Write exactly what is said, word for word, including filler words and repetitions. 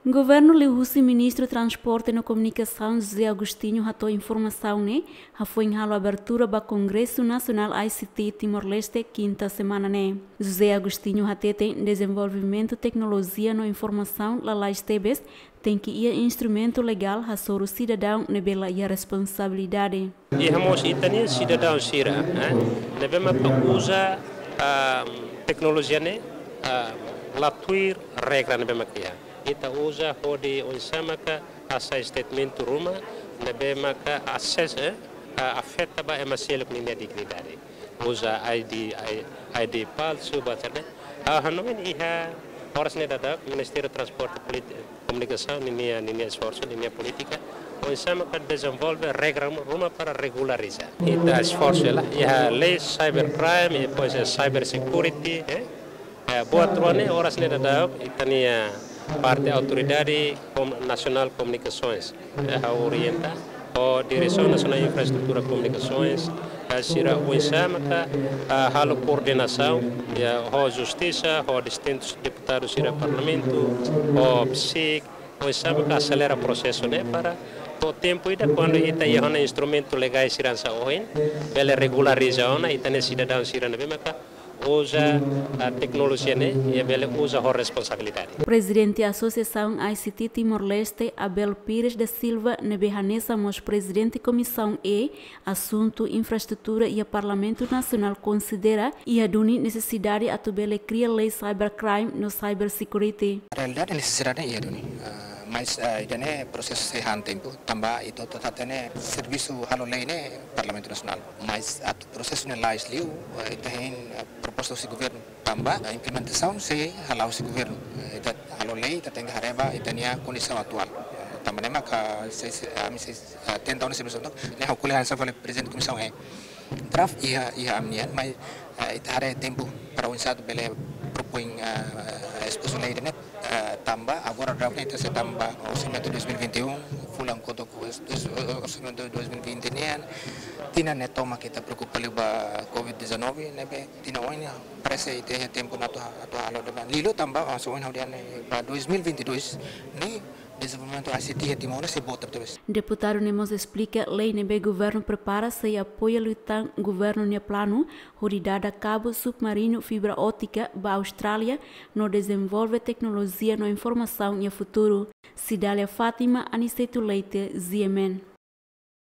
Governu liuhusi Ministru Transporte no Komunikasaun José Agostinho hato'o informasaun ne'e hafoin halo abertura ba Kongresu Nasionál I C T Timor-Leste kinta semana ne'e. José Agostinho hateten dezenvolvimentu teknolojia no informasaun lalais tebes tenke iha instrumentu legál hasoru sidadaun ne'ebé la iha responsabilidade. Iha mós ita-nia sidadaun sira, eh, ne'ebé maka uza, ah, teknolojia ne'e, ah, la tuir regra ne'ebé maka iha. Ita uza hodi oinsá maka hasai statement ruma ne'ebé maka ases, eh, ah, afeta ba ema seluk ninia dignidade. Uza I D, I-, I D palsu, ba terne. Ah, hanoin iha oras ne'e daudaun Ministériu Transporte Politi-, Komunikasaun ninia, ninia esforsu, ninia polítika, oinsá maka dezenvolve regra ruma para regulariza. Ita esforsu hela, iha lei cybercrime, e depois iha cyber security, eh? Eh, buat rua ne'e oras ne'e daudaun ita-nia parte Autoridade Kom-, Nasionál Komunikasoens, eh, ha'u orienta ho Diresaun Nasionál Infraestrutura Komunikasoens, eh, sira oinsá maka, eh, halo koordenasaun, iha ho Justisa, ho distintus deputadu sira Parlamentu, ho PCIC, oinsá maka aselera prosesu ne'e para to'o tempu ida kuandu ita iha ona instrumentu legais sira hanesan ohin, bele regulariza ona ita-nia sidadaun sira ne'ebé maka uza, ah, teknolojia ne'e, i bele uza ho responsabilidade. Prezidente Asosiasaun I C T Timor-Leste, Abel Pires da Silva, ne'ebé hanesan mós Prezidente Komisaun E, Asuntu Infraestrutura iha Parlamentu Nasionál konsidera iha duni nesesidade atu bele kria lei cybercrime no cyber security. Realidade nesesidade iha duni. Ah, mas, ah, ida-ne'e prosesu sei han tempu, tanba ita hotu hatene servisu halo lei ne'e Parlamentu Nasionál. Mas atu prosesu ne'e lais liu, eh, ita hein, eh, proposta husi governu tanba, eh, implementasaun sei hala'o husi governu. Eh, ita halo lei, ita tenke haree ba ita-nia kondisaun atuál. Eh, tanba ne'e maka sei, sei, ami sei, eh, tenta ona servisu ne'e, ha'u ko'alia hanesan fali Prezidente Komisaun E. Draft iha, iha ami-nian, mas, eh, ita haree tempu para oinsá atu bele propoin, eh, espozu lei ida-ne'e, eh, tanba agora draft ne'e ita sei tama ba orsamentu dois mil e vinte e um, fulan kotuk orsamentu dois mil e vinte nian, tinan ne'e tomak ita preokupa liu ba covid dezanove, ne'ebé tinan oin ne'e parese ita iha tempu ona atu, atu halo de'it. Liuliu tanba, ah, se ohin ha'u dehan ne'e ba dois mil e vinte e dois ne'e dezenvolvimentu I C T iha Timor ne'e sei boot tebes. Deputadu ne'e mós esplika lei ne'ebé governu prepara sei apoia liután governu nia planu hodi dada kabu submarinu fibra ótika ba Austrália no dezenvolve teknolojia no informasaun iha futuru. Cidália Fátima, Aniceto Leite, G M N.